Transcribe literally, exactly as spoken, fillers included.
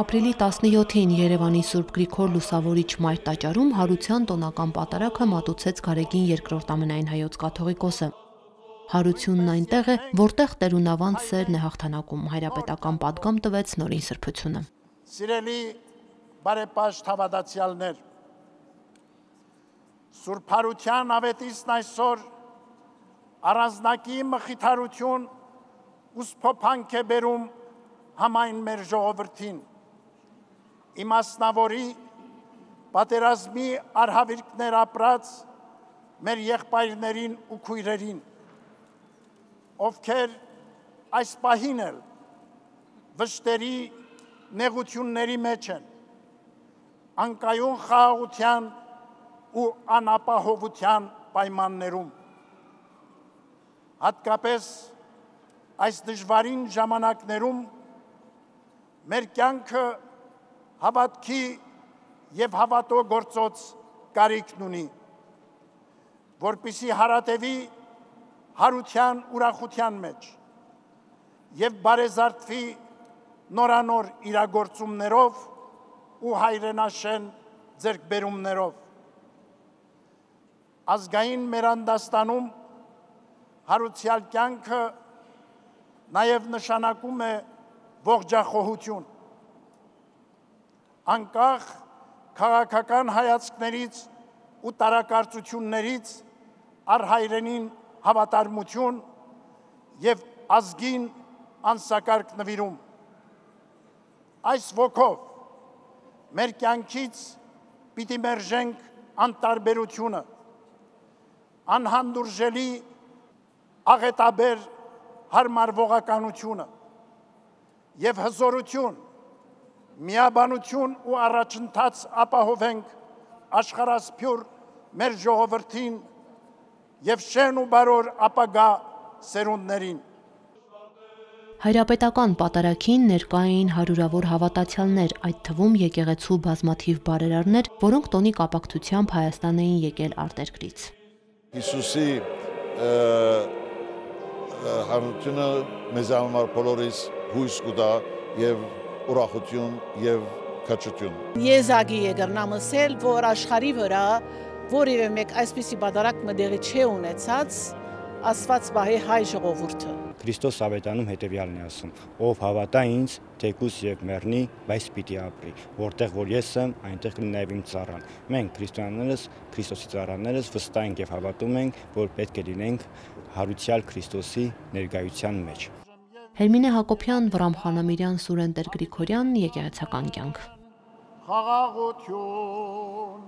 Ապրիլի տասնյոթին Երևանի Սուրբ Գրիգոր Լուսավորիչ մայր տաճարում հարության տոնական պատարագը մատուցեց Գարեգին երկրորդ ամենայն հայոց կաթողիկոսը։ Հարությունն այնտեղ է, որտեղ տերունավանդ սերն է հաղթանակում, հայրապետական պատգամ տվեց նորին սրբությունը։ Սիրելի բարեպաշտ հավատացյալներ, Սուրբ Հարության ավետիսն այսօր առանձնակի մխիթարություն ու սփոփանք է բերում համայն մեր ժողովրդին, իմասնավորի պատերազմի արհավիրքներ ապրած մեր եղբայրներին ու քույրերին, ովքեր այս պահին էլ վշտերի նեղությունների մեջ են, անկայուն խաղաղության ու անապահովության պայմաններում։ Հատկապես այս դժվարին ժամանակներում մեր կյանքը հավատքի և հավատո գործոց կարիքն ունի, որպեսզի հարատևի հարության ուրախության մեջ և բարեզարդվի նորանոր իրագործումներով ու հայրենաշեն ձեռքբերումներով։ Ազգային մեր անդաստանում հարուցյալ կյանքը նաև նշանակում է ողջախոհություն, անկախ քաղաքական հայացքներից ու տարակարծություններից առհայրենին հավատարմություն և ազգին անսակարգ նվիրում։ Այս ոգով մեր կյանքից պիտի մերժենք անտարբերությունը, անհանդուրժելի աղետաբեր հարմարվողականությունը և հզորություն, միաբանություն ու առաջընթաց ապահովենք աշխարհասփյուր մեր ժողովրդին և շեն ու բարոր ապագա սերունդներին։ Հայրապետական պատարագին ներկա էին հարյուրավոր հավատացյալներ, այդ թվում եկեղեցու բազմաթիվ բարերարներ, որոնք տոնի կապակցությամբ Հայաստան էին եկել արտերկրից։ Հիսուսի հարությունը մեզ համար բոլորիս հույս կտա և ուրախություն և քաջություն։ Եզակի եգրնամսել, որ աշխարհի վրա որևէ մեկ այսպիսի պատարագ մտեղի չի ունեցած, Աստված պահի հայ ժողովուրդը։ Քրիստոս ավետանում հետևյալն է ասում. ով հավատա ինձ, թեկուզ եւ մեռնի, բայց պիտի ապրի, որտեղ որ ես եմ, այնտեղ կլինի նաեւ իմ ծառան։ Մենք քրիստոնյաներս, Քրիստոսի ծառաներս վստահ ենք եւ հավատում ենք, որ պետք է լինենք հարուցյալ Քրիստոսի ներկայության մեջ։ Հերմինե Հակոբյան, Վրամ Խանամիրյան, Սուրեն Տեր-Գրիգորյան, Եկեղեցական կյանք։ Խաղաղություն